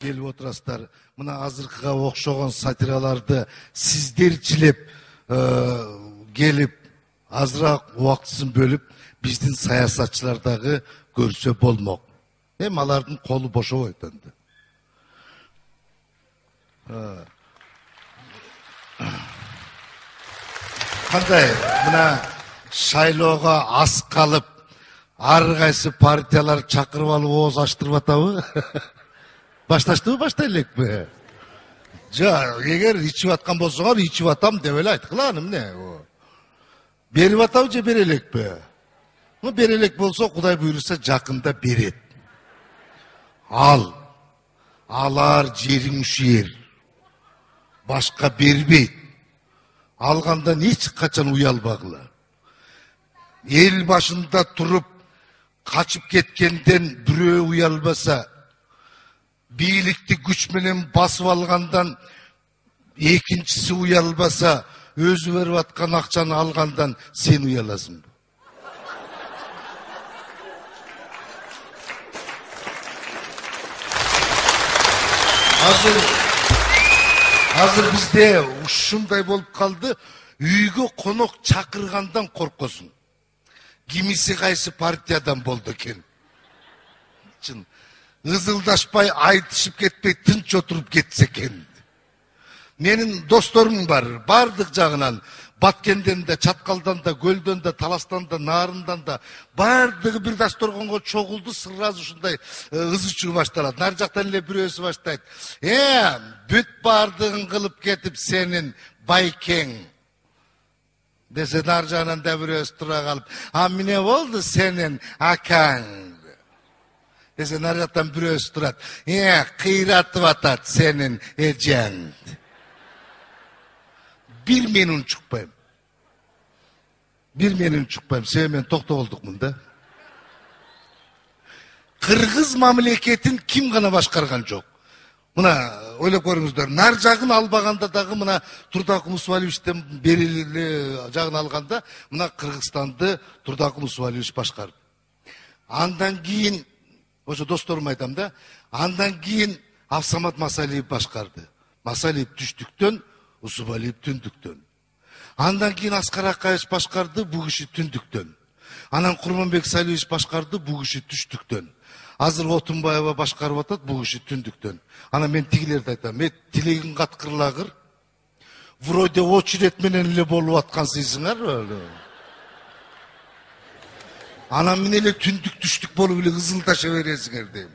келип отурасыздар. Мына азыркыга окшогон сатираларды сиздерчилеп келип азыраак убактысын бөлүп биздин саясатчылар дагы көрсө болмок. Эми алардын колу бошобойт энди. Кандай мына шайлоого аз калып ар кайсы партиялар чакырып алып ооз ачтырып атабы? Башташтыбы, баштай элекпи? Эгер ичип аткан болсоңор, ичип атам деп эле айткыла, эмне? Берип атабы же бере элекпи? Бере элек болсо, Кудай буйруса жакында берет. Алар жериң ушер. Башка бербейт. Алгандан эч качан уялбагыла. Эл башында туруп качып кеткенден бирөө уялбаса, бийликти күч менен басып алгандан экинчиси уялбаса, өзү берип аткан акчаны алгандан сен уяласыңбы? Азыр бизде ушундай болуп калды, үйгө конок чакыргандан коркосуң. Кимиси кайсы партиядан болду экен. Чын. Ызылдашпай, айтышып кетпей, тынч отуруп кетсе экен. Менин досторум бар, бардык жагынан, Баткенден да, Чаткалдан да, Көлдөн да, Таластан да, Нарындан да, бардыгы бир дасторгонго чогулду, сразу ушундай ызы чуу башталат. Нар жактан эле бирөөсү баштайт. Бүт бардыгын кылып кетип сенин байкең. Десе нар жагынан да бирөөсү тура калып, эмне болду сенин акаң? Десе нар жактан бирөөсү турат. Кыйратып атат сенин эжең. Бир мен унчукпайм. Себеби мен токтоголдукмун да. Кыргыз мамлекетин ким гана башкарган жок. Мына ойлоп көрүңүздөр, нар жагын албаганда дагы мына Турдакул Усубалиевичтен бериле жагын алганда, мына Кыргызстанды Турдакул Усубалиевич башкарды. Андан кийин, ошо досторум айтам да, андан кийин Абсамат Масалиев башкарды. Масалиев түштүктөн, Усубалиев түндүктөн. Андан кийин Аскар Акаевич башкарды, бу киши түндүктөн. Анан Курманбек Салиевич башкарды, бу киши түштүктөн. Азыр Отунбаева башкарып атат, бу киши түндүктөн. Анан мен тигилерди айтам, тилегиң каткырлагыр. Вроде очередь менен эле болуп аткансызсыңар. Анан мен эле түндүк түштүк болуп эле ызылдаша бересиңер дейм.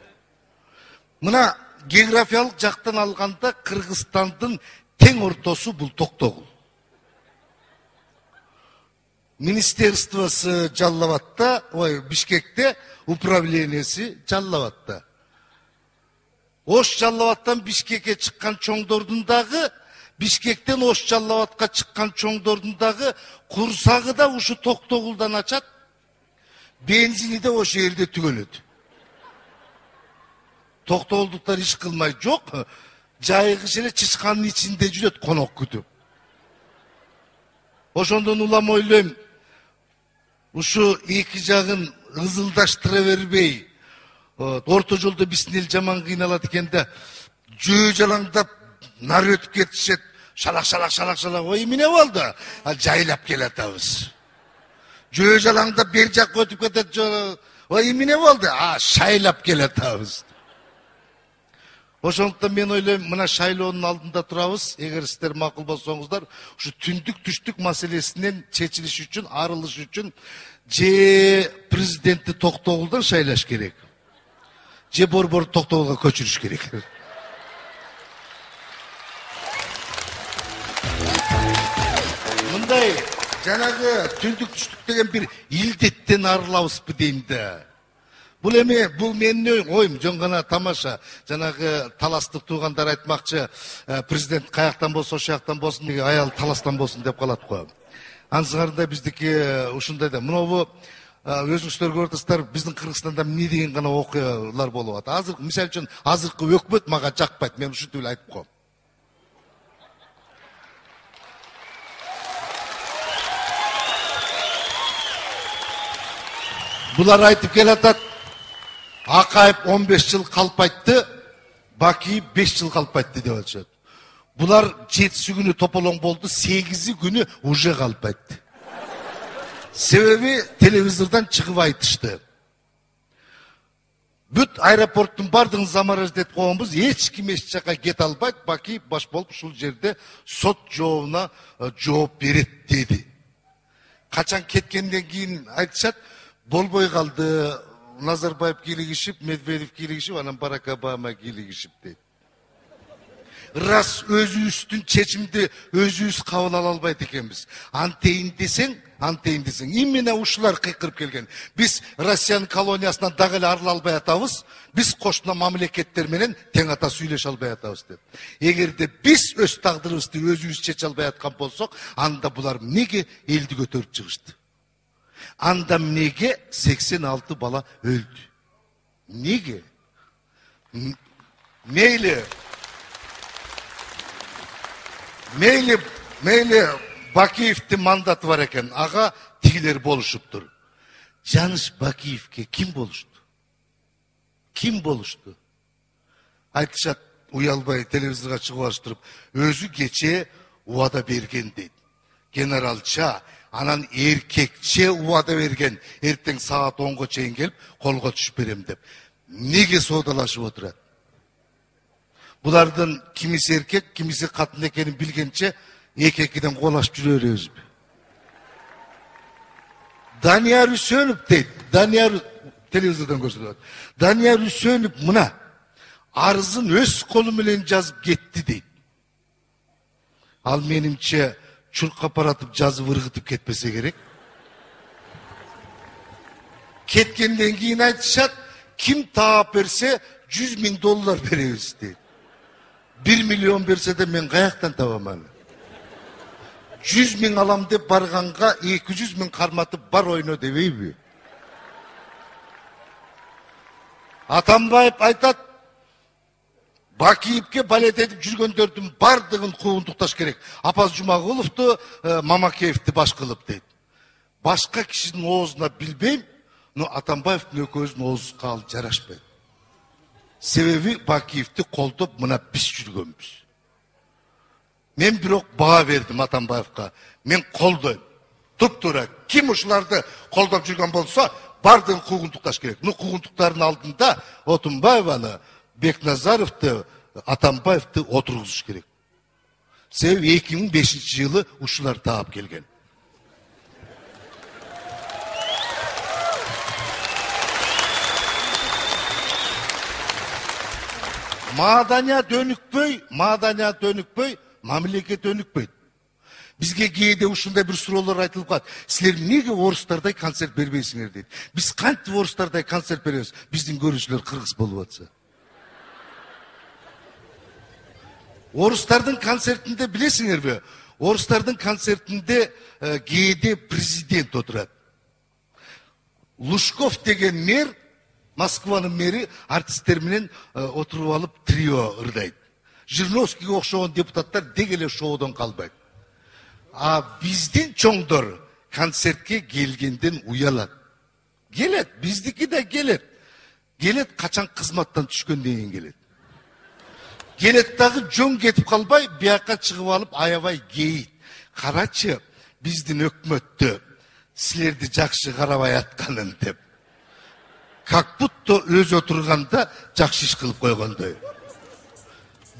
Мына географиялык жактан алганда Кыргызстандын тең ортосу бул Токтогул. Министерствосы Жалал-Абадта, Бишкекте, управленияси Жалал-Абадта. Ош Жалал-Абадтан Бишкекке чыккан чоңдордун дагы, Бишкектен Ош Жалал-Абадка чыккан чоңдордун дагы курсагы да ушу Токтогулдан ачат, бензини да ошол жерде түгөнөт. Токтогулдуктар иш кылмай жок, жайгыш эле чычканын ичинде жүрөт конок күтүп. Ошондон улам ойлойм, ушу эки жагын ызылдаштыра бербей, орто жолдо биздин эл жаман кыйналат экен да, жөө жалаңдап нар өтүп кетишет, шалак. Ой, эмне болду? Жайлап келатабыз. Жөө жалаңдап бер жакка өтүп кетет, ой, эмне болду? Шайлап келатабыз. Ошондуктан мен ойлойм, мына шайлоонун алдында турабыз, эгер сиздер макул болсоңуздар, ушу түндүк түштүк маселесинен чечилиш үчүн, арылыш үчүн же президентти Токтогулдан шайлаш керек, же борбор Токтогулга көчүрүш керек. Мындай жанагы түндүк түштүк деген бир илдеттен арылабызбы дейм да. Бул менин оюм, жөн гана тамаша. Жанагы таластык туугандар айтмакчы, президент каяктан болсо, ошол жактан болсун, аял таластан болсун деп калат го. Ансыңарда биздики ушундай да. Мынабу өзүңүздөр көрүп атасыздар, биздин Кыргызстанда эмне деген гана окуялар болуп атат. Азыр мисалы үчүн азыркы өкмөт мага жакпайт, мен ушинтип эле айтып коем. Булар айтып келатат, Акаев 15 жыл калп айтты, Бакиев 5 жыл калпайтты деп атышат. Булар 7 күнү тополоң болду, 8 күнү уже калпайтты. Себеби телевизордон чыгып айтышты. Бүт аэропорттун бардыгын замораждетип койгонбуз, эч ким эч жака кете албайт, Бакиев баш болуп ушул жерде сот жообуна жооп берет деди. Качан кеткенден кийин айтышат, болбой калды, Назарбаев кийлигишип, Медведев кийлигишип, анан Барак Обама кийлигишип дейт. Рас өзүбүздүн чечимди өзүбүз кабыл ала албайт экенбиз. Антейин десең, именно ушулар кыйкырып келген. Биз Россиянын колониясынан дагы эле арыла албай атабыз, биз кошуна мамлекеттер менен тең ата сүйлөшө албай атабыз деп. Эгерде биз өз тагдырыбызды өзүбүз чече албай аткан болсок, анда булар эмнеге элди көтөрүп чыгышты? Анда эмнеге 86 бала өлдү? Неге? Мейли Бакиевдин мандаты бар экен, ага тигилер болушуптур. Жаныш Бакиевке ким болушту? Айтышат, уялбай телевизорго чыгып алыштырып, өзү кече убада берген дейт. Генералча, анан эркекче убада берген, эртең саат 10го чейин келип, колго түшүп берем деп. Неге соодалашып отурат? Булардын кимиси эркек, кимиси катын экенин билгенче, эки-экиден колашып жүрө беребизби? Данияр Үсөнов дейт. Данияр телевизордон көрсөтөт. Данияр Үсөнов мына арызын өз колу менен жазып кетти дейт. Ал менимче чуркап баратып жазып ыргытып кетпесе керек. Кеткенден кийин айтышат, ким таап берсе $100,000 беребиз дейт. 1 миллион берсе де мен каяктан табам аны? 100,000 алам деп барганга 200,000 карматып бар ойно дебейби? Атамбаев айтат, Бакиевке балет этип жүргөндөрдүн бардыгын куугунтукташ керек. Апаз Жумагуловду, Мамакеевди баш кылып дейт. Башка кишинин оозуна билбейм, но Атамбаевдин экөөбүздүн оозубузга ал жарашпайт. Себеби Бакиевди колдоп мына биз жүргөнбүз. Мен бирок баа бердим Атамбаевга. Мен колдойм. Туп-туура ким ушуларды колдоп жүргөн болсо, бардыгын куугунтукташ керек. Ну куугунтуктардын алдында Отунбаеваны, Бекназаровду, Атамбаевди отургузуш керек. Себеби 2005-жылы ушулар таап келген. Маданият өнүкпөй, мамлекет өнүкпөйт. Бизге кээде ушундай бир суроолор айтылып калат. Силер эмнеге орустардай концерт бербейсиңер дейт. Биз кантип орустардай концерт беребиз? Биздин көрүүчүлөр кыргыз болуп атса. Орустардын концертинде билесиңерби? Орустардын концертинде кээде президент отурат. Лужков деген мэр, Москванын мэри артисттер менен отуруп алып трио ырдайт. Жириновскийге окшогон депутаттар деги эле шоудон калбайт. А биздин чоңдор концертке келгенден уялат. Келет, биздики да келет. Келет качан кызматтан түшкөндөн кийин келет. Келет дагы жөн кетип калбай, бияка чыгып алып аябай кейит. Карачы, биздин өкмөттө силерди жакшы карабай атканын деп. Как будто өз отурганда жакшы иш кылып койгондой.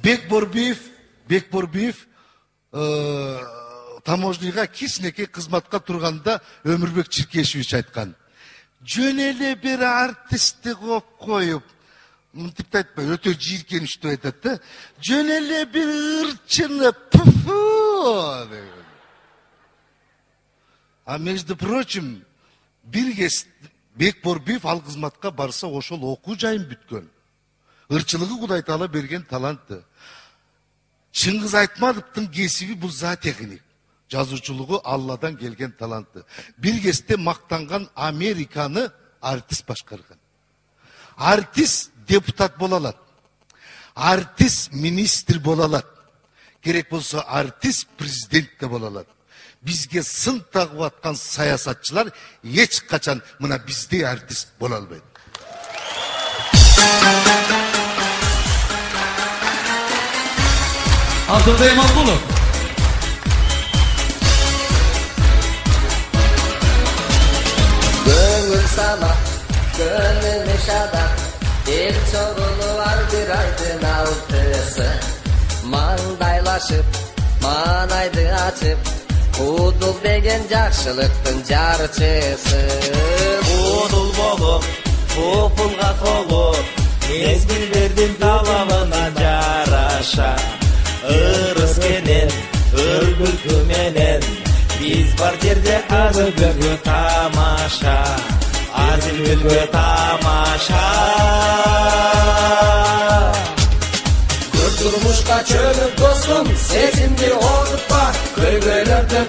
Бекборбиев таможняга кичинекей кызматка турганда Өмүрбек Чиркешевич айткан. Жөн эле бир артистти коп коюп, мынтип айтпай, өтө жийиркеничтүү айтат да. Жөн эле бир ырчыны А между прочим, бир кез Бекборбиев ал кызматка барса ошол окуу жайын бүткөн. Ырчылыгы Кудай Таала берген таланты. Чыңгыз Айтматовдун кесиби бул зоотехник. Жазуучулугу Алладан келген таланты. Бир кезде мактанган Американы артист башкарган. Артист депутат боло алат. Артист министр боло алат. Керек болсо артист президент да боло алат. Бизге сын тагып аткан саясатчылар эч качан мына биздей артист боло албайт. Алтынбек Мамбулов. Көңүл сана, көңүл шада, эл чогулу бар бир айдын алтысы. Маңдайлашып, манайды ачып, Удул деген жакшылыктын жарчысы. Удул болуп, популга толуп, мезгилдердин талабына жараша. Ырыс менен, өргүлкү менен, биз бар жерде азылгүлгү тамаша. Азылгүлгү тамаша. Турмушка чөгүп достум, сезимди огутпа, көйгөйлөрдөн